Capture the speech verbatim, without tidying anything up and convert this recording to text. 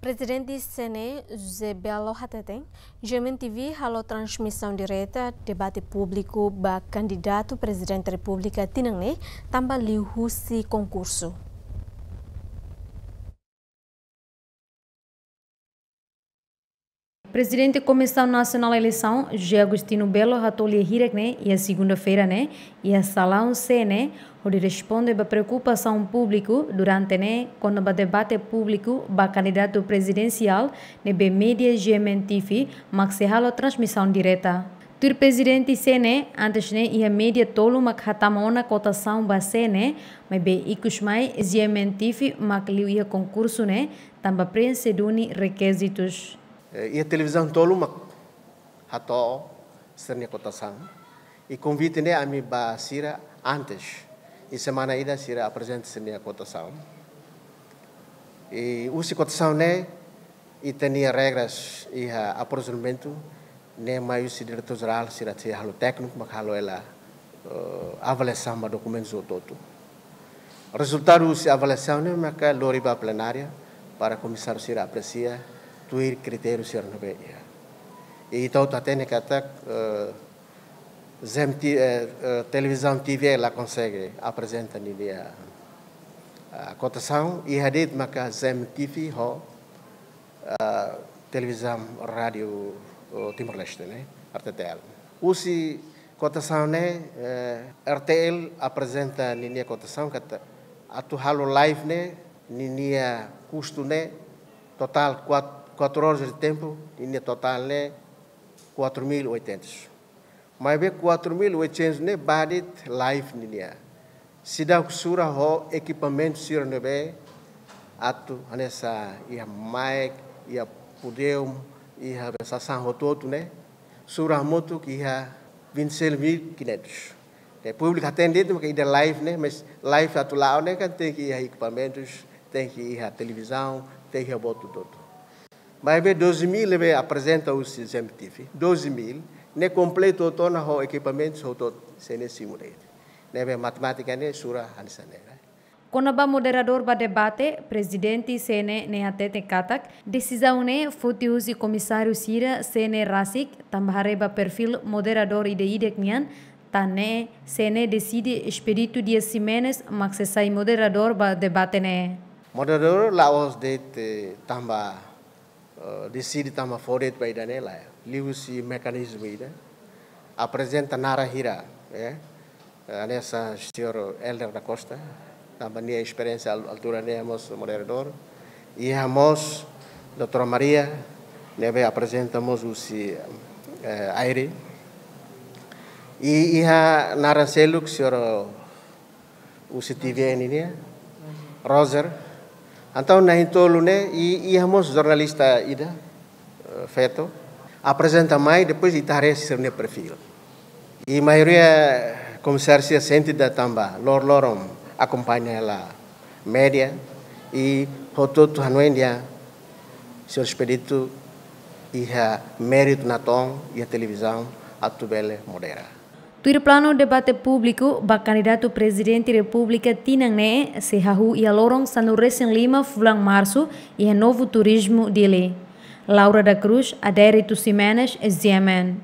Prezidente C N E, José Belo hateten, G M N T V halo transmisaun direta debate públiku ba kandidatu Prezidente Repúblika tinan ne'e, tanba liuhusi konkursu. Prezidente Komisaun Nasionál Eleisaun, José Agostinho Belo, hato'o lia hirak ne'e iha segunda-feira ne'e iha salaun C N E, hodi responde ba preokupasaun públiku durante ne'e kona-ba debate públiku ba kandidatu prezidensiál ne'ebé média G M N T V mak sei halo transmisaun direta. Tuir Prezidente C N E, antes ne'e iha média tolu mak hatama ona kotasaun ba C N E, maibé ikus mai G M N T V mak liu iha konkursu ne'e tanba preenxe duni rekizitus. Eh, iha televizaun tolu mak hato'o sira-nia kotasaun. I konvite ne'e ami ba sira antes. I semana ida sira aprezenta sira-nia kotasaun. I husi kotasaun ne'e, ita-nia regras iha aprovisionamentu ne'e mai husi diretór jerál, sira sei halo tékniku mak halo hela, eh, avaliasaun ba dokumentus hotu-hotu. Rezultadu husi avaliasaun ne'e maka lori ba plenária para komisáriu sira apresia tuir kritériu sira ne'ebé iha. I ita hotu hatene katak, eh, G M T, eh, eh, televizaun T V la konsege aprezenta ninia, ah, kotasaun, iha de'it maka G M T V ho, ah, televizaun rádiu, oh, Timor-Leste ne'e, R T T L. Husi kotasaun ne'e, eh, R T L aprezenta ninia kotasaun katak atu halo live ne'e, ninia kustu ne'e totál kuat-, kuatru horas de tempu, ninia totál ne'e quatro mil e oitocentos. Maibé quatro mil e oitocentos ne'e ba de'it live ninia. Seidauk sura ho ekipamentu sira ne'ebé atu hanesan iha mic, iha pódiu, iha sasán hotu-hotu ne'e. Sura hamutuk iha vinte e seis mil e quinhentos. Ne'e públiku hatene de'it maka ida live ne'e, mas live atu la'o ne'e kan tenke iha ekipamentus, tenke iha televizaun, tenke iha buat hotu-hotu. Maibé doze mil ne'ebé aprezenta husi G M T V, doze mil, ne'e kompletu hotu ona ho ekipamentus hotu-hotu, C N E simu de'it. Ne'ebé matemátika ne'e sura hanesan ne'e. Kona-ba moderadór ba debate, Prezidente C N E ne'e hatete katak, desizaun ne'e foti husi komisáriu sira C N E rasik, tanba haree ba perfíl moderadór ida-idak nian, tan ne'e C N E deside Expedito Dias Ximenes mak sei sai moderadór ba debate ne'e. Moderadór la'ós de'it, eh, tanba, eh, deside tanba fó de'it ba ida-ne'e, lae. Liuhusi mekanizmu ida. Aprezenta naran hira, eh. Eh, hanesan señór Helder da Costa, tanba nia esperiénsia al-, altura ne'e mós moderadór. Iha mós doutora Maria, ne'ebé aprezenta mós husi, eh, Aire. I iha naran seluk, señór husi T V N nian, Roger. Entaun na'in-tolu ne'e, i, iha mós jornalista ida, eh, feto. Aprezenta mai, depois ita haree sira-nia perfíl. I maioria komisáriu sira sente ida tanba lor-loron akompaña hela média, i hotu-hotu hanoin dehan señór Expedito iha méritu natoon iha televizaun atu bele modera. Tuir planu, debate públiku ba kandidatu Prezidente Repúblika tinan ne'e sei hahú iha loron sanulu-resin-lima fulan Marsu iha Novo Turismo, Dili. Laura da Cruz, Adérito Ximenes, G M N.